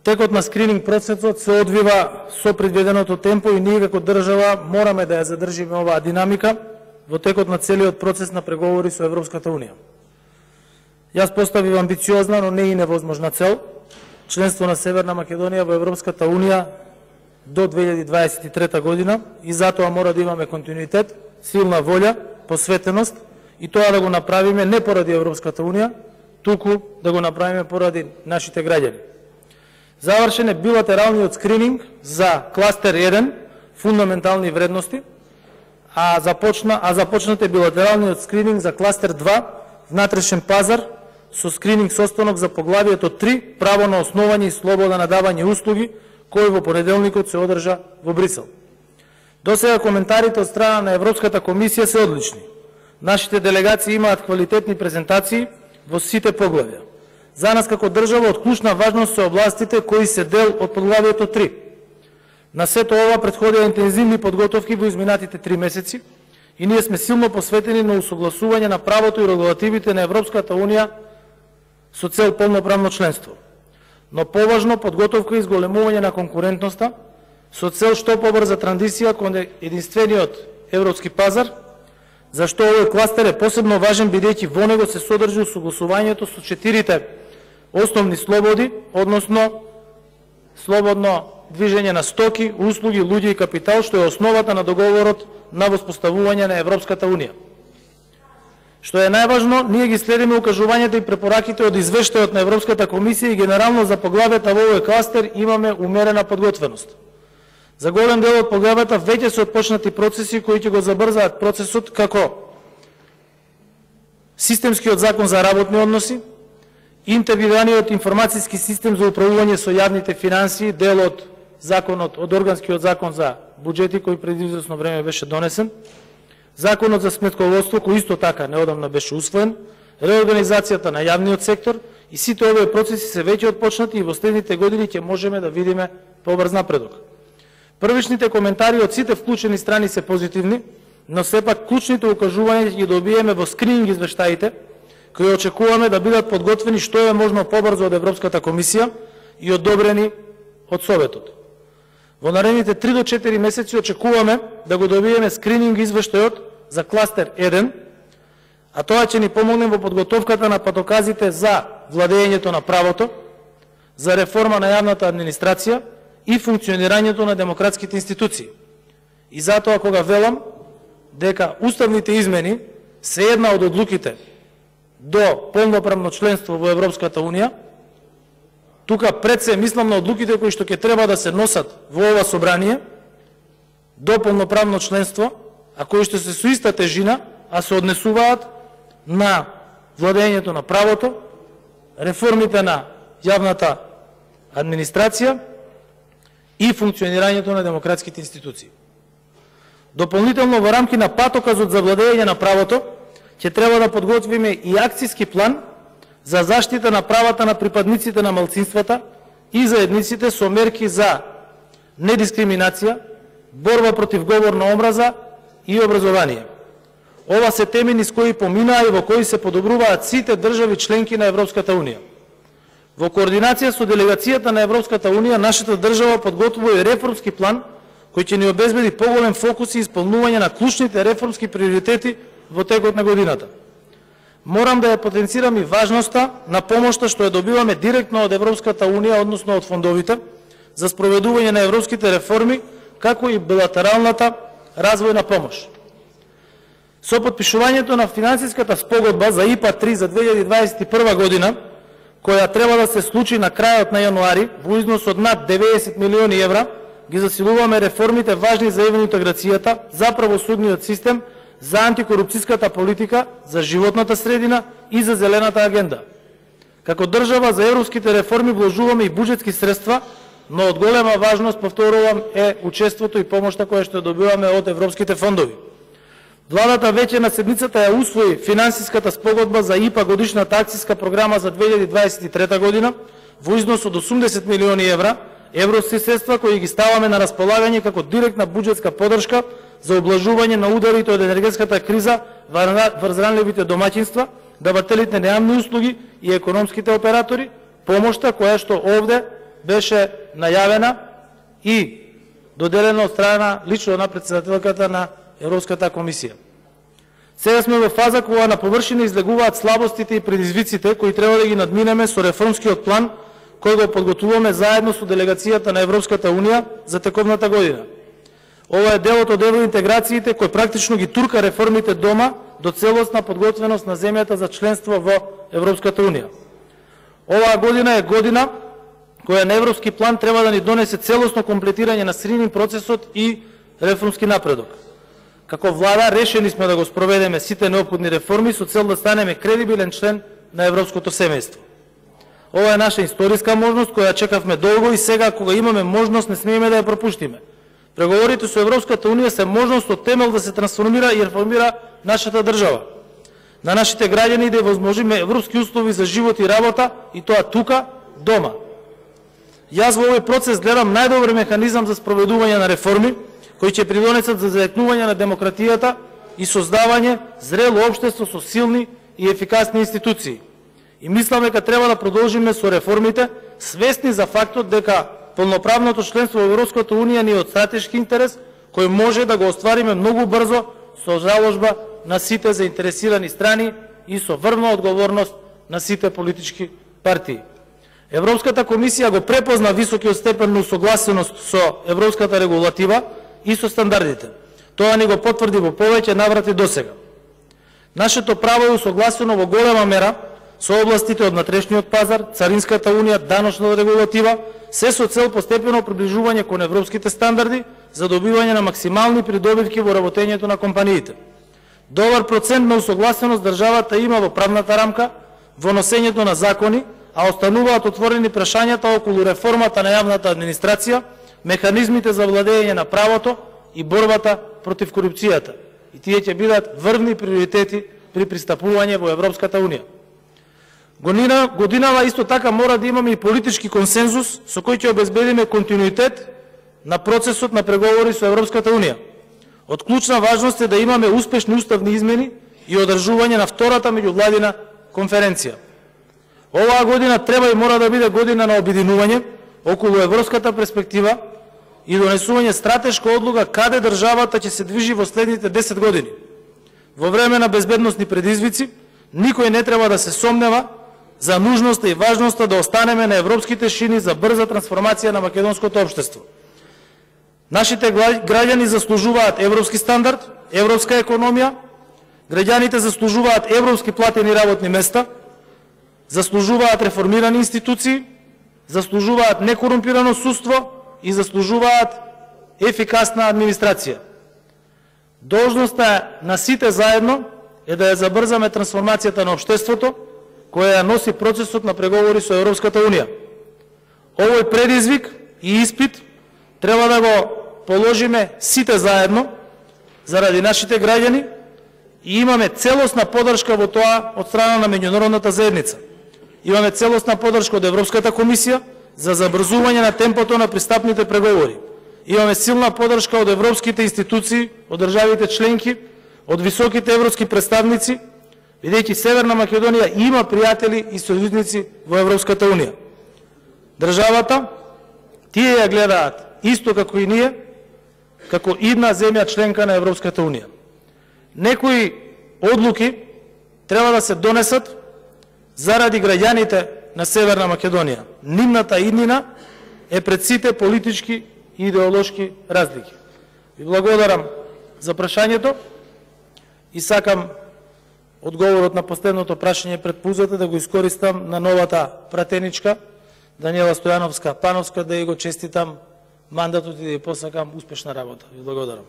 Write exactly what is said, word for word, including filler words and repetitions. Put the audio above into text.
Текот на скрининг процесот се одвива со предвиденото темпо и ние како држава мораме да ја задржиме оваа динамика во текот на целиот процес на преговори со Европската Унија. Јас поставив амбициозна, но не и невозможна цел, членство на Северна Македонија во Европската Унија до две илјади дваесет и трета година и затоа мора да имаме континуитет, силна волја, посветеност и тоа да го направиме не поради Европската Унија, туку да го направиме поради нашите граѓани. Завршен е билатералниот скрининг за кластер еден, фундаментални вредности, а започна а започнат е билатералниот скрининг за кластер два, внатрешен пазар, со скрининг состанок за поглавието три, право на основање и слобода на давање услуги, кој во понеделникот се одржа во Брисел. До сега коментарите од страна на Европската комисија се одлични. Нашите делегации имаат квалитетни презентации во сите поглавја. За нас како држава од клучна важност се областите кои се дел од поглавието три. На сето ова претходеа интензивни подготовки во изминатите три месеци и ние сме силно посветени на усогласување на правото и регулативите на Европската Унија со цел полноправно членство. Но поважно подготовка и зголемување на конкурентноста со цел што побрза транзиција кон единствениот европски пазар, зашто овој кластер е посебно важен бидејќи во него се содржи усогласувањето со четирите основни слободи, односно слободно движење на стоки, услуги, луѓе и капитал, што е основата на договорот на воспоставување на Европската Унија. Што е најважно, ние ги следиме укажувањата и препораките од извештајот на Европската комисија и генерално за поглавјата во овој кластер имаме умерена подготвеност. За голем дел од поглавјата веќе се отпочнати процеси кои ќе го забрзаат процесот, како системскиот закон за работни односи, интегрираниот информацијски систем за управување со јавните финансии, дел од законот, од органскиот закон за буџети кој преди извесно време беше донесен, законот за сметководство кој исто така неодамна беше усвоен, реорганизацијата на јавниот сектор и сите овие процеси се веќе отпочнати и во следните години ќе можеме да видиме побрз напредок. Првичните коментари од сите вклучени страни се позитивни, но сепак клучните укажувања ќе ги добиеме во скрининг извештаите, кои очекуваме да бидат подготвени што е можно побрзо од Европската комисија и одобрени од Советот. Во наредните три до четири месеци очекуваме да го добиеме скрининг извештајот за кластер еден, а тоа ќе ни помогне во подготовката на патоказите за владењето на правото, за реформа на јавната администрација и функционирањето на демократските институции. И затоа кога велам дека уставните измени се една од одлуките до полноправно членство во Европската Унија, тука пред се мислам на одлуките кои што ќе треба да се носат во ова собрание до полноправно членство, а кои што се со иста тежина, а се однесуваат на владењето на правото, реформите на јавната администрација и функционирањето на демократските институции. Дополнително во рамки на патоказот за владење на правото ќе треба да подготвиме и акцијски план за заштита на правата на припадниците на малцинствата и заедниците со мерки за недискриминација, борба против говор на омраза и образование. Ова се теми низ кои поминаа и во кои се подобруваат сите држави членки на Европската Унија. Во координација со делегацијата на Европската Унија, нашата држава подготвува и реформски план кој ќе ни обезбеди поголем фокус и исполнување на клучните реформски приоритети во текот на годината. Морам да ја потенцирам и важноста на помошта што ја добиваме директно од Европската Унија, односно од фондовите, за спроведување на европските реформи, како и билатералната развојна помош. Со потпишувањето на финансиската спогодба за ИПА три за две илјади дваесет и прва година, која треба да се случи на крајот на јануари во износ од над деветдесет милиони евра, ги засилуваме реформите важни за евроинтеграцијата, за правосудниот систем, за антикорупцијската политика, за животната средина и за зелената агенда. Како држава за европските реформи вложуваме и буџетски средства, но од голема важност, повторувам, е учеството и помошта која што добиваме од европските фондови. Владата веќе на седмицата ја усвои финансиската спогодба за ИПА годишната акцијска програма за две илјади дваесет и трета година во износ од осумдесет милиони евра, европски средства кои ги ставаме на располагање како директна буџетска поддршка за облажување на ударите од енергетската криза врз ранливите домаќинства, давателите на јавни услуги и економските оператори, помошта која што овде беше најавена и доделена од страна лично на председателката на Европската комисија. Сега сме во фаза кога на површина излегуваат слабостите и предизвиците кои треба да ги надминеме со реформскиот план кој го подготвуваме заедно со делегацијата на Европската унија за тековната година. Ова е делот од евроинтеграциите кој практично ги турка реформите дома до целосна подготвеност на земјата за членство во Европската унија. Оваа година е година која на европски план треба да ни донесе целосно комплетирање на скрининг процесот и реформски напредок. Како влада решени сме да го спроведеме сите неопходни реформи со цел да станеме кредибилен член на европското семејство. Ова е наша историска можност која чекавме долго и сега кога имаме можност не смееме да ја пропуштиме. Преговорите со Европската унија се можност од темел да се трансформира и реформира нашата држава. На нашите граѓани да возможиме европски услови за живот и работа и тоа тука, дома. Јас во овој процес гледам најдобар механизам за спроведување на реформи кои ќе придонесат за зајакнување на демократијата и создавање зрело општество со силни и ефикасни институции. И мислам дека треба да продолжиме со реформите, свесни за фактот дека полноправното членство во Европската унија ни е од стратешки интерес, кој може да го оствариме многу брзо со заложба на сите заинтересирани страни и со врвна одговорност на сите политички партии. Европската комисија го препозна високиот степен на усогласеност со европската регулатива и со стандардите. Тоа ни го потврди во повеќе наврати досега. Нашето право е усогласено во голема мера со областите од внатрешниот пазар, царинската унија, даночна регулатива, се со цел постепено приближување кон европските стандарди за добивање на максимални придобивки во работењето на компаниите. Добар процент на усогласеност државата има во правната рамка, во носењето на закони, а остануваат отворени прашањата околу реформата на јавната администрација, механизмите за владење на правото и борбата против корупцијата. И тие ќе бидат врвни приоритети при пристапување во Европската унија. Година, годинава исто така мора да имаме и политички консензус со кој ќе обезбедиме континуитет на процесот на преговори со Европската унија. Од клучна важност е да имаме успешни уставни измени и одржување на втората меѓувладина конференција. Оваа година треба и мора да биде година на обединување околу европската перспектива и донесување стратешка одлука каде државата ќе се движи во следните десет години. Во време на безбедносни предизвици, никој не треба да се сомнева за нужноста и важноста да останеме на европските шини за брза трансформација на македонското општество. Нашите граѓани заслужуваат европски стандард, европска економија, граѓаните заслужуваат европски платени работни места, заслужуваат реформирани институции, заслужуваат некорумпирано судство и заслужуваат ефикасна администрација. Должноста на сите заедно е да ја забрзаме трансформацијата на општеството, која ја носи процесот на преговори со Европската унија. Овој предизвик и испит треба да го положиме сите заедно заради нашите граѓани и имаме целосна поддршка во тоа од страна на меѓународната заедница. Имаме целосна поддршка од Европската комисија за забрзување на темпото на пристапните преговори. Имаме силна поддршка од европските институции, од државите членки, од високите европски представници, бидејќи Северна Македонија има пријатели и сојузници во Европската унија. Државата, тие ја гледаат исто како и ние, како идна земја членка на Европската унија. Некои одлуки треба да се донесат заради граѓаните на Северна Македонија. Нивната иднина е пред сите политички и идеолошки разлики. Ви благодарам за прашањето и сакам одговорот на последното прашање пред пузата да го искористам на новата пратеничка Даниела Стојановска Пановска, да ја го честитам мандатот и да ја посакам успешна работа. Ви благодарам.